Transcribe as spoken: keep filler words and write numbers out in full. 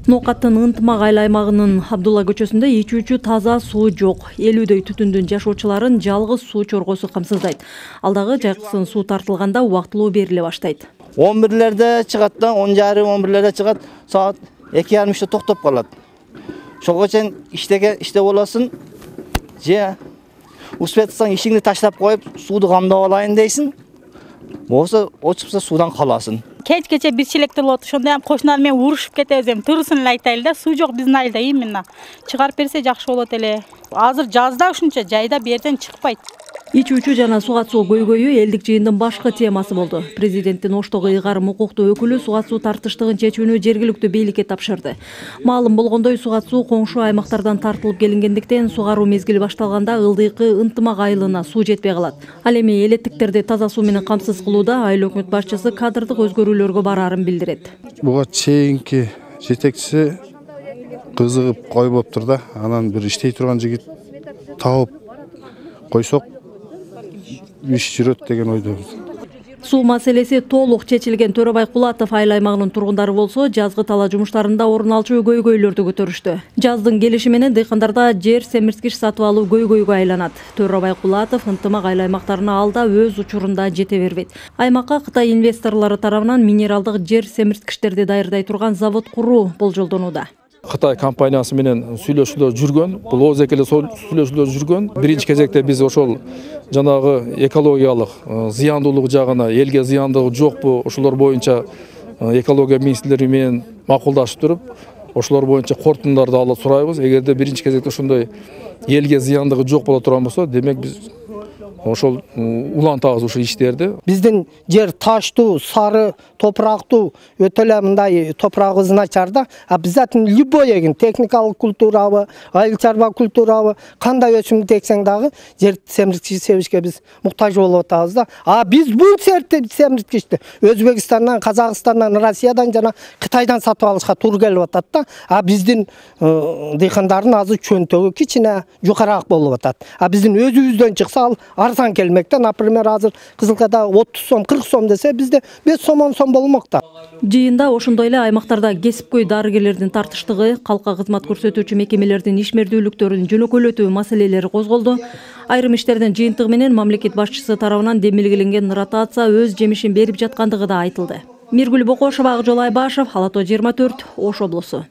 Ноокаттын Ынтымак айыл аймагынын Абдулла көчөсүндө ичүүчү таза суу жок. элүүдөй түтүндүн жашоочуларын жалгыз суу чоргосу камсыздайт. Алдагы жайкысын суу тартылганда убактылуу бериле баштайт. он бирлерде чыгат да, он жарым он бирлерде чыгат, саат эки жарым үчтө токтоп калат. Ошого чейин иштеге иште болосуң, же успет кылсаң ишиңди таштап коюп, сууду камдап алайын дейсиң. Болсо очупса суудан каласың. Кеч кече бир челекте болот, ошондо ham кошуналар менен урушуп кетебиз, эми турусун эле айтайлы да, суу жок биздин айылда именно. Чыгарып берсе жакшы болот эле. Азыр жазда ушунча жайда бу жерден чыкпайт. Ичүүчү жана суга суу көйгөйү элдик жыйындын башкы темасы болду. Президенттин Оштогу ыйгарым укуктуу өкүлү суга суу тартыштыгын чечүүнү жергиликтүү бийликке тапшырды. Маалым болгондой, суга суу коңшу аймактардан тартылып келингендиктен сугаруу мезгили башталганда ылдыйкы Ынтымак айылына суу жетпей калат. Ал эми элеттиктерди таза суу менен камсыз кылууда айыл өкмөт башчысы кадрдык өзгөрүүлөргө бараарын билдирет. Буга чейинки жетекчиси кызыгып койбоптур да, анан бир иштей турган жигит таап койсок иш жүрөт деген ойдобуз. Суу маселеси толук чечилген Төрөбай Кулатов айыл аймагынын тургундары болсо, жазгы талаа жумуштарында орун алчу көйгөйлөрдү көтөрүштү. Жаздын келиши менен дыйкандарда жер семирткич сатып алуу көйгөйгө айланат. Төрөбай Кулатов Ынтымак айыл аймактарына алда өз учурунда жете бербейт. Аймакка Кытай инвесторлору тарабынан минералдык жер семирткичтерди даярдай турган завод куруу болжолдонууда. Кытай компаниясы менен сүйлөшүүлөр жүргөн, бул ооз экеле сүйлөшүүлөр жүргөн. Биринчи кезекте биз ошол жанагы экологиялык зыяндуулук жагына, элге зыяндыгы жокпу, ошолор боюнча экология министрлери менен макулдашып туруп, ошолор боюнча корутундарды алып сурайбыз. Эгерде биринчи кезекте ошондой элге зыяндыгы жок боло турган болсо, демек биз ошол улантабыз ушул иштерди. Биздин жер таштуу, сары, топурактуу, өтө эле мындай топурагыбыз начар да. А обязательно любой эгин, техникалык культурабы, айыл чарба культурабы, кандай өсүмдү эксең дагы жер семирткич себишке биз муктаж болуп атабыз да. А биз бул семирткичти Өзбекстандан, Казакстандан, Россиядан жана Кытайдан сатып алышка туура келип атат да. А биздин дыйкандардын азыр чөнтөгү кичине жукараак болуп атат. А биздин өзүбүздөн чыкса ал арзан келмекте. Например, азыр Кызылкада отуз сом, кырк сом десе, бизде беш сом, он сом болмокта. Жыйында ошондой эле аймактарда кесипкөй дарыгерлердин тартыштыгы, калкка кызмат көрсөтүүчү мекемелердин ишмердүүлүктөрүн жөнөкөйлөтүү маселелери козголду. Айрым иштердин жыйынтыгы менен мамлекет башчысы тарабынан демилгеленген ротация өз жемишин берип жаткандыгы да айтылды. Миргүл Бокошова, Акжол Айбашев, Ала тоо жыйырма төрт, Ош облусу.